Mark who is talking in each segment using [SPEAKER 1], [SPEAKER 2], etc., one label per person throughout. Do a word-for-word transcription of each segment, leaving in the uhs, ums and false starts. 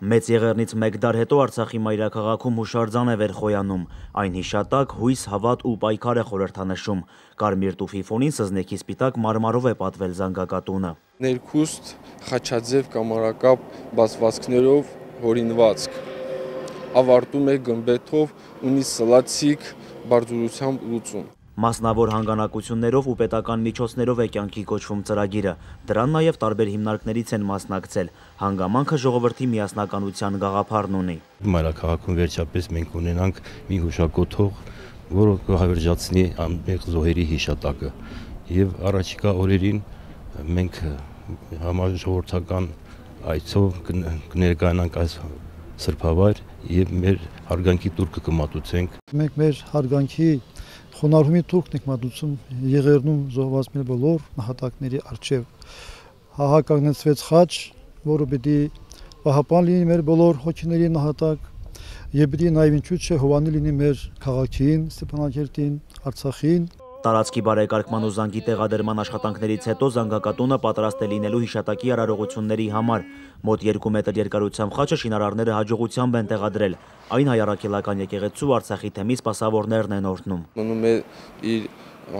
[SPEAKER 1] Մեծ եղեռնից մեկ դար հետո Արցախի մայրաքաղաքում հուշարձան է վերխոյանում, այն հիշատակ, հույս, հավատ ու պայքար է խորհրդանշում, կարմիր տուֆի ֆոնին սզնեքի սպիտակ մարմարով է պատվել զանգակատունը։
[SPEAKER 2] Ներքուստ խաչաձև կամարակապ բացվածքներով հորինվածք, ավարտում է գմբեթով, ունի սլացիկ բարձրությամբ լուծում։
[SPEAKER 1] Մասնավոր հանգանակություններով ու պետական միջոցներով է կյանքի կոչվում ծրագիրը, դրան նաև տարբեր հիմնարկներից են մասնակցել, հանգամանքը ժողովրդի միասնականության գաղափարն ունի։
[SPEAKER 3] Մայրաքաղաքում վերջապես մենք ունենանք մի հուշակոթող, որը կհավերժացնի անմեղ զոհերի հիշատակը, եւ առաջիկա օրերին մենք համաժողովրդական այցով կներկայանանք այս սրբավայր եւ մեր հարգանքի տուրքը կմատուցենք։
[SPEAKER 4] Մենք մեր հարգանքի խոնարհումի տուրքն ենք մատուցում Եղեռնում զոհված մեր բոլոր նահատակների առջև։ Հահակագնեցվեց խաչ, որը պիտի պահապան լինի մեր բոլոր հոգիների նահատակ, եւ պիտի նաեւ ինչու՞ չէ հովանի լինի մեր քաղաքին, Ստեփանակերտին, Արցախին։
[SPEAKER 1] Տարածքի բարեկարգման ու զանգի տեղադրման աշխատանքներից հետո զանգակատունը պատրաստ է լինելու հիշատակի արարողությունների համար։ Մոտ երկու մետր երկարությամբ խաչը շինարարները հաջողությամբ են տեղադրել։ Այն հայ առաքելական եկեղեցու Արցախի թեմի սպասավորներն են օրհնում։
[SPEAKER 2] Մնում է իր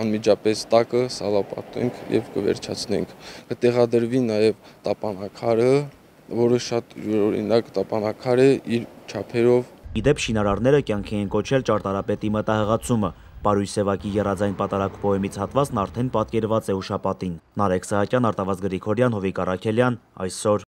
[SPEAKER 2] անմիջապես տակը սալապատենք եւ կվերջացնենք։ Կտեղադրվի նաեւ տապանակարը, որը շատ յուրօրինակ տապանակար է իր չափերով։
[SPEAKER 1] Իդեպ շինարարները կյանքի են կոչել ճարտարապետի մտահղացումը։ Պարույր Սևակի եռաձայն պատարակ պոեմից հատվածն արդեն պատկերված է հուշապատին։ Նարեկ Սահակյան, Արտավազդ Գրիգորյան, Հովիկ Առաքելյան, այսօր։